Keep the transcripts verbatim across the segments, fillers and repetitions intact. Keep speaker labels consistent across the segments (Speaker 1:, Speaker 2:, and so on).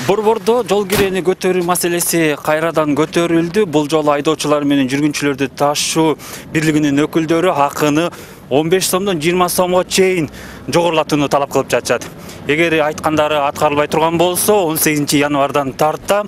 Speaker 1: Борбордо жол киреени көтөрүү маселеси кайрадан көтөрүлдү. Бул жолу айдоочулар менен жүргүнчүлөрдү ташуу бирлигинин өкүлдөрү акыны он беш сомдон жыйырма сомго чейин жогорулатууну талап кылып жатышат. Эгер айткандары аткарылбай турган болсо он сегизинчи январдан тарта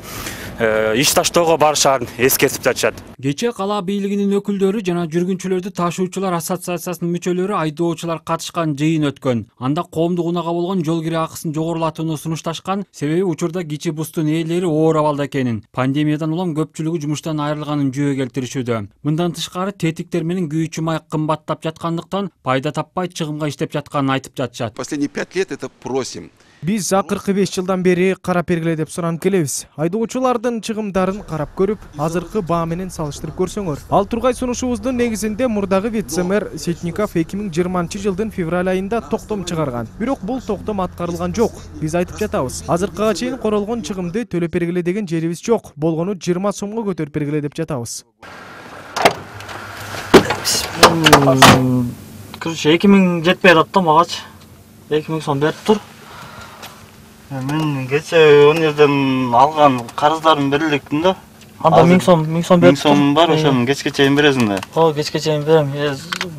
Speaker 1: иш таштоого барышаарын эскертип жатышат.
Speaker 2: Кечээ кала бийлигинин өкүлдөрү жана жүргүнчүлөрдү ташуучулар ассоциациясынын мүчөлөрү айдоочулар катышкан жыйын өткөн. Анда коомдук унаага болгон жол кире акысын жогорулатууну сунушташкан, себеби учурда кичи бустун ээлери оор абалда экенин, пандемиядан улам көпчүлүгү жумуштан айрылганын жөө келтиришүүдө. Мындан тышкары тетиктер менен күйүүчү май кымбаттап жаткандыктан пайда таппай чыгымга иштеп жатканын айтып жатышат.
Speaker 3: Последние пять лет это просим.
Speaker 4: Биз акыркы беш жылдан бери карап бергиле деп суранып келебиз. Айдоочулардын чыгымдарын карап көрүп, азыркы баа менен салыштырып көрсөңөр. Ал тургай сунушубуздун негизинде мурдагы вице-мэр Сетников эки миң жыйырманчы жылдын февраль айында токтом чыгарган. Бирок бул токтом аткарылган жок. Биз айтып жатабыз. Азыркыга чейин королгон чыгымды төлөп бергиле деген жерибиз жок. Болгону жыйырма сомго көтөрүп бергиле деп жатабыз.
Speaker 5: Короче, эки миң жетпей атат да магачы. эки миң сом берип тур. Мен кече он жерден алган карыздарым берилдиктин да. Анда миң сом, миң сом берип тур. миң сом бар, ошону кечке чейин бересиң да. О, кечке чейин берем.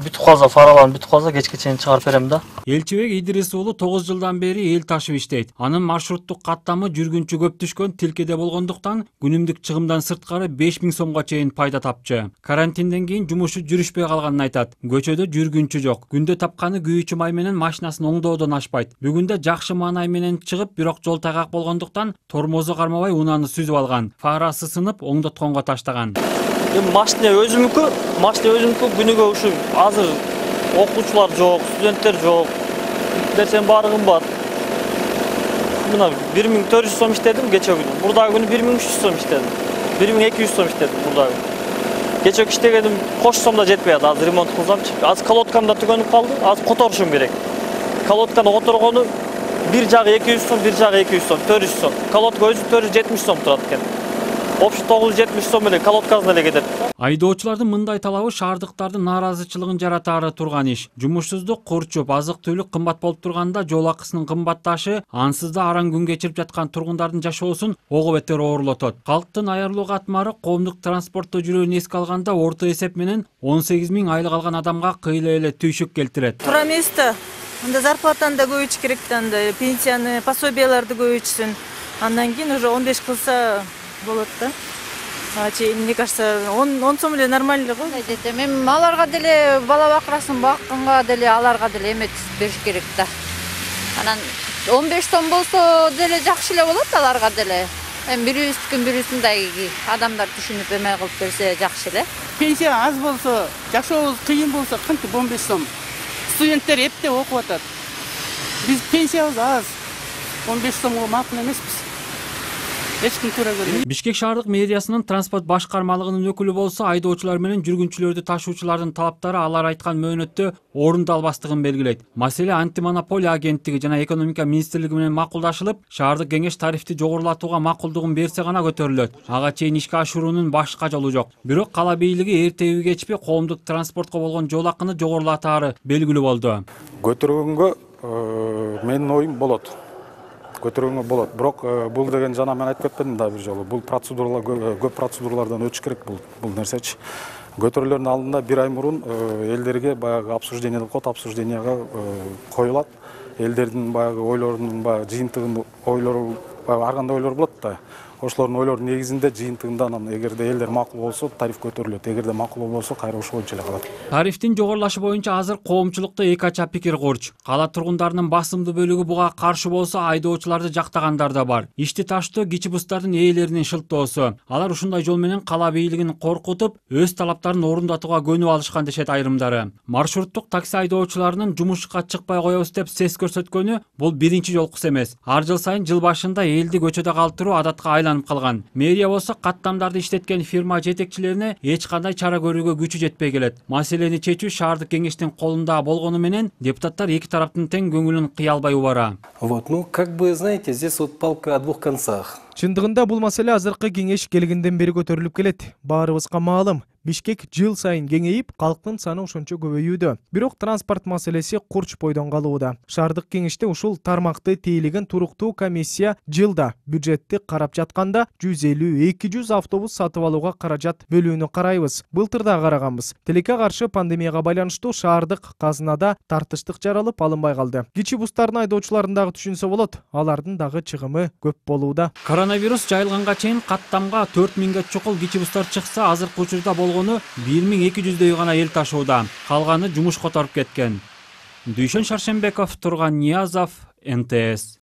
Speaker 5: Бүтүп калса, фараларым бүтүп калса, кечке чейин чыгарып берем да.
Speaker 2: Элчибек Идрис уулу тогуз жылдан бери эл ташып иштейт. Анын маршруттук каттамы жүргүнчү көп түшкөн тилкеде болгондуктан күнүмдүк чыгымдан сырткары беш миң сомго чейин пайда тапчы. Карантинден кийин жумушу жүрүшпөй калганын айтат. Көчөдө жүргүнчү жок. Күндө тапканы күйүүчү май менен машинасын оңдоодон ашпайт. Бүгүндө жакшы маанай менен чыгып, бирок жол тайгак болгондуктан тормозу кармабай унааны сүзүп алган. Фарасы сынып, оңдотконго таштаган.
Speaker 5: Эми машина өзүмүкү, машина өзүмүкү күнүгө ушу азыр окуучулар жок, студенттер жок. Нерсенин баары кымбат. Мына бир миң төрт жүз сом иштедим кече күнү. Мурдагы күнү бир миң үч жүз сом иштедим. бир миң эки жүз сом иштедим мурдагы. Кече иштегеним кош сомдо жетпей атат. Азыр ремонт кылсамчы. Азыр колодкам да түгөнүп калды. Азыр которушум керек. Колодканы которгону бир жагы эки жүз сом, бир жагы эки жүз сом, төрт жүз сом. Колодка өзү төрт жүз жетимиш сом турат экен. Общий тогуз жүз жетимиш сом менен колодкасына эле кетет.
Speaker 2: Айдоочулардын мындай талабы шаардыктардын нааразычылыгын жаратаары турган иш. Жумушсуздук, курчуп, азык-түлүк кымбат болуп турганда жол акысынын кымбатташы ансыз да араң күн кечирип жаткан тургундардын жашоосун ого бетер оорлотот. Калктын аярлуу катмары коомдук транспортто жүрүүнү эске алганда орто эсеп менен он сегиз миң айлык алган адамга кыйла эле түйшүк келтирет.
Speaker 6: Туура эмес да. Анда зарплатаны да көбөйтүш керек да, анда пенсияны, пособияларды көбөйтсүн. Андан кийин уже он беш кылса болот да. Мне кажется, он сом эле нормально го.
Speaker 7: Эми аларга деле бала бакырасын бакканга деле аларга деле эмет бериш керек да. Анан он беш сом болсо деле жакшы эле болот аларга деле. Эми бирибиздикин бирибиздин адамдар түшүнүп эме кылып берсе жакшы эле.
Speaker 8: Пенсия аз болсо, жашообуз кыйын болсо кантип он беш сом. Студенттер эптеп окуп атат. Биз пенсиябыз аз. он беш сомго макул эмеспиз.
Speaker 2: Бишкек шаардык мэриясынын транспорт башкармалыгынын өкүлү болсо айдоочулар менен жүргүнчүлөрдү ташуучулардын талаптары алар айткан мөөнөттө орундалбастыгын белгилейт. Маселе антимонополия агенттиги жана экономика министрлиги менен макулдашылып, шаардык кеңеш тарифти жогорулатууга макулдугун берсе гана көтөрүлөт. Ага чейин ишке ашыруунун башка жолу жок. Бирок кала бийлиги эртеби кечпи коомдук транспортко болгон жол акыны жогорулатаары белгилүү болду.
Speaker 9: Көтөргөнгө менин оюм болот. Көтөргөнгө болот. Бирок бул деген жана мен айтып кетпедим да бир жолу. Бул процедуралар көп процедуралардан өтүш керек бул бул нерсечи. Көтөрүлөрдүн алдында бир ай мурун элдерге баягы обсуждение деп коет, обсужденияга коюлат. Элдердин баягы ойлорунун баягы жыйынтыгын ойлору, ар кандай ойлор болот да. Ошолордун ойлорунун негизинде жыйынтыгында анан эгерде элдер макул болсо тариф көтөрүлөт, эгерде макул болбосо кайра ошол боюнча эле калат.
Speaker 2: Тарифтин жогорулашы боюнча азыр коомчулукта эки ача пикир курч. Кала тургундарынын басымдуу бөлүгү буга каршы болсо, айдоочуларды жактагандар да бар. Ишти таштоо кичи бустардын ээлеринин шылтоосу. Алар ушундай жол менен кала бийлигин коркутуп, өз талаптарын орундатууга көнүп алышкан дешет айрымдары. Маршруттук такси айдоочуларынын жумушка чыкпай коебуз деп сес көрсөткөнү бул биринчи жолкусу эмес. Ар жыл сайын жыл башында элди көчөдө калтыруу адатка айланып калган. Мэрия болсо каттамдарды иштеткен фирма жетекчилерине эч кандай чара көрүүгө күчү жетпей келет. Маселени чечүү шаардык кеңештин колунда болгону менен депутаттар эки тараптын тең көңүлүн кыя албай убара.
Speaker 10: Вот, ну, как бы, знаете, здесь вот палка о двух концах.
Speaker 4: Чындыгында бул маселе азыркы кеңеш келгенден бери көтөрүлүп келет. Баарыбызга маалым. Бишкек жыл сайын кеңейип, калктын саны ошончо көбөйүүдө. Бирок транспорт маселеси курч бойдон калууда. Шаардык кеңеште ушул тармакты тейлеген туруктуу комиссия жылда бюджетти карап жатканда жүз элүү эки жүз автобус сатып алууга каражат бөлүүнү карайбыз. Былтыр да караганбыз. Тилекке каршы пандемияга байланыштуу шаардык казынада тартыштык жаралып алынбай калды. Кичи бустардын айдоочуларын дагы түшүнсө болот. Алардын дагы чыгымы көп болууда.
Speaker 2: Коронавирус жайылганга чейин каттамга төрт миңге чукул кичи бустар чыкса, азыркы учурда болгону бир миң эки жүздөй гана эл ташууда. Калганы жумуш которуп кеткен. Дүйшөн Шаршембеков, Турган Ниязов, эн тэ эс.